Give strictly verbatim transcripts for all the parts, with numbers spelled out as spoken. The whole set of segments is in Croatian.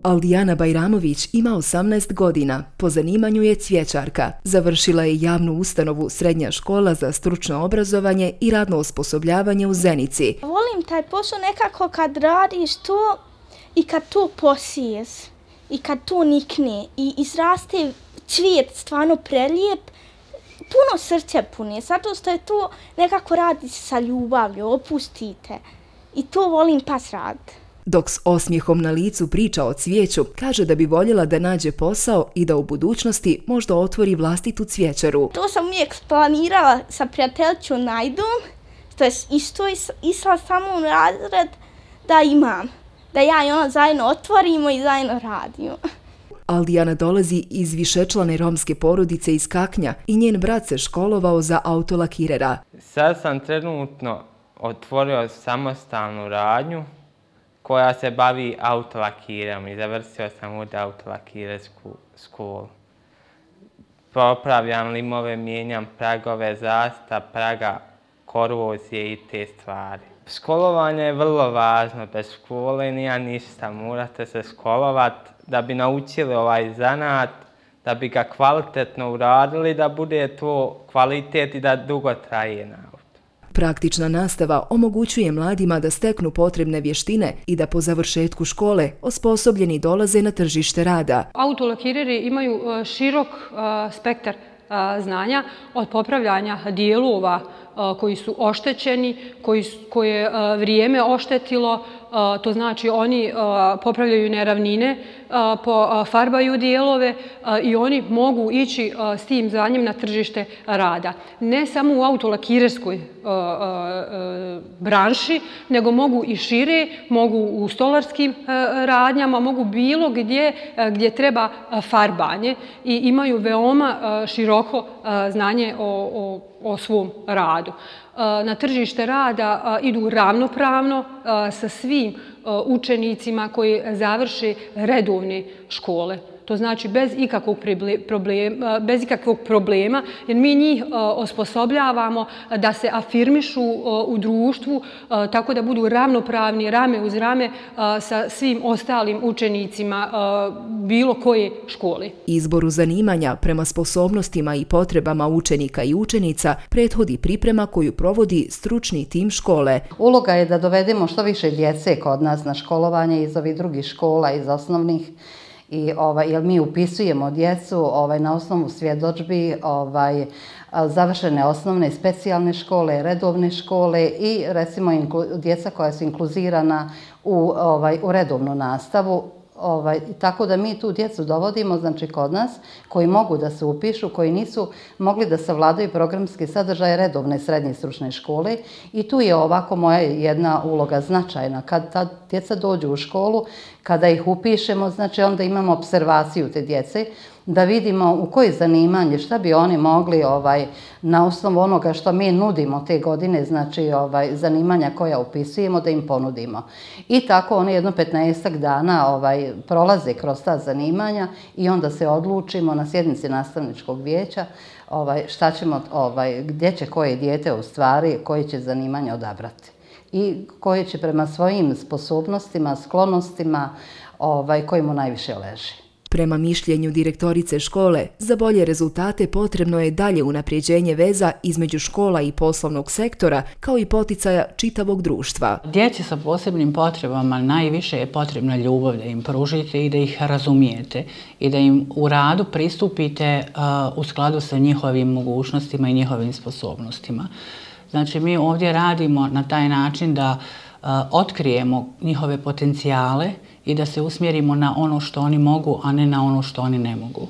Aldijana Bajramović ima osamnaest godina, po zanimanju je cvjećarka. Završila je javnu ustanovu Srednja škola za stručno obrazovanje i radno osposobljavanje u Zenici. Volim taj posao nekako kad radiš to i kad to posiješ i kad to nikne i izraste cvijet stvarno prelijep, puno srce puni, zato što je to nekako radi sa ljubavlju, opustite. I to volim pas rad. Dok s osmijehom na licu priča o cvijeću, kaže da bi voljela da nađe posao i da u budućnosti možda otvori vlastitu cvijećaru. To sam uvijek planirala sa prijateljicom Najdom, što je isto išla samo u razred da imam, da ja i ona zajedno otvorimo i zajedno radimo. Aldijana dolazi iz višečlane romske porodice iz Kaknja i njen brat se školovao za autolakirera. Sad sam trenutno otvorio samostalnu radnju koja se bavi autolakirom i završio sam ovdje autolakirersku školu. Popravljam limove, mijenjam pragove zasta, praga, korozije i te stvari. Školovanje je vrlo važno, bez škole nije ništa, morate se školovati da bi naučili ovaj zanat, da bi ga kvalitetno uradili, da bude to kvalitet i da dugo traje nauka. Praktična nastava omogućuje mladima da steknu potrebne vještine i da po završetku škole osposobljeni dolaze na tržište rada. Autolakireri imaju širok spektar znanja od popravljanja dijelova koji su oštećeni, koje je vrijeme oštetilo, to znači oni popravljaju neravnine, farbaju dijelove i oni mogu ići s tim znanjem na tržište rada. Ne samo u autolakirerskoj branši, nego mogu i šire, mogu u stolarskim radnjama, mogu bilo gdje gdje treba farbanje i imaju veoma široko znanje o, o, o svom radu. Na tržište rada idu ravnopravno sa svim učenicima koji završe redovne škole. To znači bez ikakvog problema, bez ikakvog problema, jer mi njih osposobljavamo da se afirmišu u društvu tako da budu ravnopravni rame uz rame sa svim ostalim učenicima bilo koje škole. Izboru zanimanja prema sposobnostima i potrebama učenika i učenica prethodi priprema koju provodi stručni tim škole. Uloga je da dovedemo što više djece kod nas na školovanje iz ovih drugih škola, iz osnovnih. I, ovaj, jer mi upisujemo djecu ovaj, na osnovu svjedodžbi, ovaj, završene osnovne i specijalne škole, redovne škole i recimo inklu, djeca koja su inkluzirana u, ovaj, u redovnu nastavu. Ovaj, tako da mi tu djecu dovodimo, znači kod nas, koji mogu da se upišu, koji nisu mogli da savladaju programski sadržaj redovne srednje stručne škole i tu je ovako moja jedna uloga značajna. Kad ta djeca dođu u školu, kada ih upišemo, znači onda imamo observaciju te djece, da vidimo u koje zanimanje, šta bi oni mogli ovaj, na osnovu onoga što mi nudimo te godine, znači ovaj, zanimanja koja upisujemo, da im ponudimo. I tako oni jedno petnaestak dana ovaj, prolaze kroz ta zanimanja i onda se odlučimo na sjednici nastavničkog vijeća ovaj, šta ćemo, ovaj, gdje će koje dijete u stvari, koje će zanimanja odabrati i koje će prema svojim sposobnostima, sklonostima, ovaj, koji mu najviše leži. Prema mišljenju direktorice škole, za bolje rezultate potrebno je dalje unapređenje veza između škola i poslovnog sektora, kao i poticaja čitavog društva. Djeci sa posebnim potrebama najviše je potrebna ljubav da im pružite i da ih razumijete i da im u radu pristupite u skladu sa njihovim mogućnostima i njihovim sposobnostima. Znači, mi ovdje radimo na taj način da otkrijemo njihove potencijale i da se usmjerimo na ono što oni mogu, a ne na ono što oni ne mogu.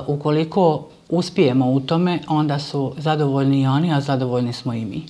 Ukoliko uspijemo u tome, onda su zadovoljni i oni, a zadovoljni smo i mi.